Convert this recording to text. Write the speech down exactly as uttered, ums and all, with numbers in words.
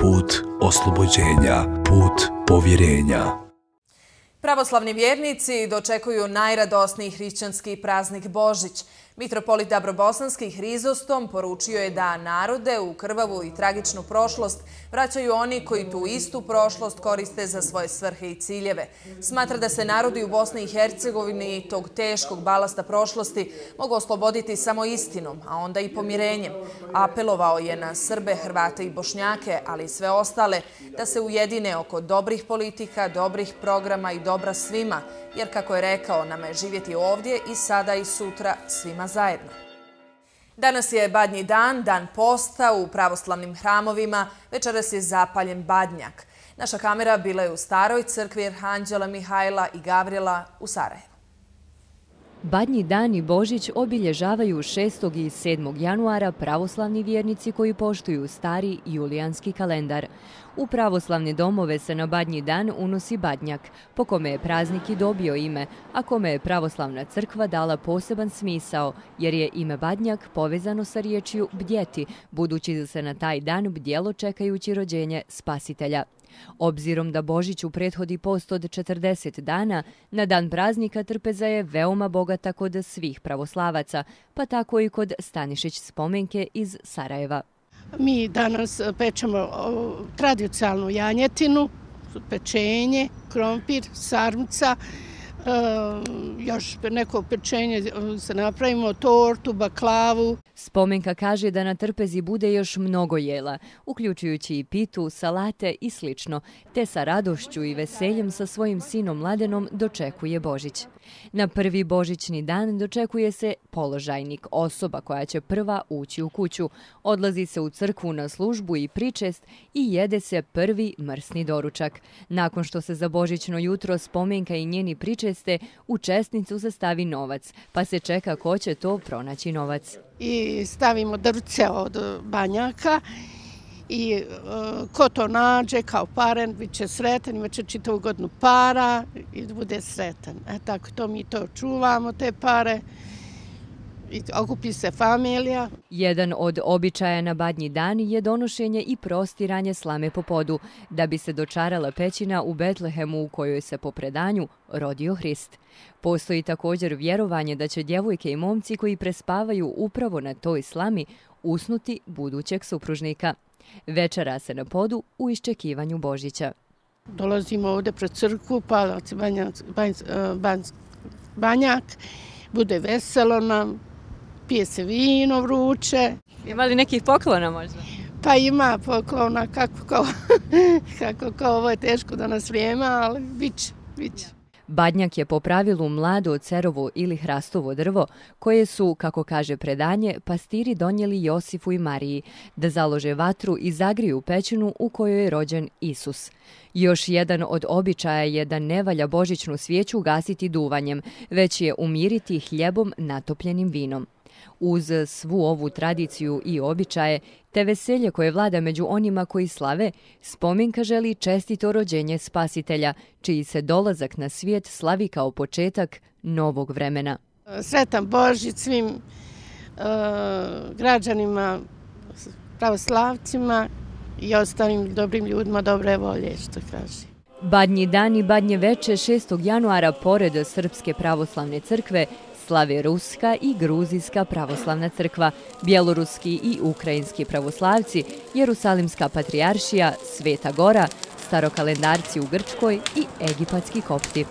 put oslobođenja, put povjerenja. Pravoslavni vjernici dočekuju najradosniji hrišćanski praznik Božić. Mitropolit Dabrobosanski Hrizostom poručio je da narode u krvavu i tragičnu prošlost vraćaju oni koji tu istu prošlost koriste za svoje svrhe i ciljeve. Smatra da se narodi u Bosni i Hercegovini tog teškog balasta prošlosti mogu osloboditi samo istinom, a onda i pomirenjem. Apelovao je na Srbe, Hrvate i Bošnjake, ali i sve ostale, da se ujedine oko dobrih politika, dobrih programa i dobra svima, jer kako je rekao, nama je živjeti ovdje i sada i sutra svima zajedno. Danas je Badnji dan, dan posta u pravoslavnim hramovima, večeras je zapaljen badnjak. Naša kamera bila je u Staroj crkvi Arhanđela Mihajla i Gavrijela u Sarajevu. Badnji dan i Božić obilježavaju šestog i sedmog januara pravoslavni vjernici koji poštuju stari julijanski kalendar. U pravoslavne domove se na Badnji dan unosi badnjak, po kome je praznik i dobio ime, a kome je pravoslavna crkva dala poseban smisao, jer je ime badnjak povezano sa riječju bdjeti, budući da se na taj dan bdjelo čekajući rođenje Spasitelja. Obzirom da Božiću prethodi post od četrdeset dana, na dan praznika trpeza je veoma bogata kod svih pravoslavaca, pa tako i kod Stanišić spomenke iz Sarajeva. Mi danas pečemo tradicionalnu janjetinu, pečenje, krompir, sarmica, još neko pečenje se napravimo, tortu, baklavu. Spomenka kaže da na trpezi bude još mnogo jela, uključujući i pitu, salate i slično, te sa radošću i veseljem sa svojim sinom Mladenom dočekuje Božić. Na prvi božićni dan dočekuje se položajnik, osoba koja će prva ući u kuću. Odlazi se u crkvu na službu i pričest i jede se prvi mrsni doručak. Nakon što se za božićno jutro Spomenka i njeni pričeste, u česnicu se stavi novac, pa se čeka ko će to pronaći novac. I stavimo drvce od banjaka i uh, ko to nađe kao paren, bit će sretan, imat će čitavu godinu para i bude sretan. E, tako to mi to čuvamo, te pare, i okupi se familija. Jedan od običaja na Badnji dan je donošenje i prostiranje slame po podu, da bi se dočarala pećina u Betlehemu u kojoj se po predanju rodio Hrist. Postoji također vjerovanje da će djevojke i momci koji prespavaju upravo na toj slami usnuti budućeg supružnika. Večera se na podu u iščekivanju Božića. Dolazimo ovdje pred crkvu, palac banjak, banjak, banjak, bude veselo nam, pije se vino vruće. Ima li nekih poklona možda? Pa ima poklona, kako ko, kako ko, ovo je teško da nas vrijeme, ali bit će, bit će. Badnjak je po pravilu mlado cerovo ili hrastovo drvo, koje su, kako kaže predanje, pastiri donijeli Josifu i Mariji, da založe vatru i zagriju pećinu u kojoj je rođen Isus. Još jedan od običaja je da ne valja božićnu svijeću gasiti duvanjem, već je umiriti hljebom natopljenim vinom. Uz svu ovu tradiciju i običaje, te veselje koje vlada među onima koji slave, Spomenka želi čestito rođenje Spasitelja, čiji se dolazak na svijet slavi kao početak novog vremena. Sretan Božić svim uh, građanima, pravoslavcima i ostalim dobrim ljudima dobre volje, što kaže. Badnji dan i Badnje veče šestog januara pored Srpske pravoslavne crkve slave Ruska i Gruzijska pravoslavna crkva, bjeloruski i ukrajinski pravoslavci, Jerusalimska patrijaršija, Sveta Gora, starokalendarci u Grčkoj i egipatski kopti.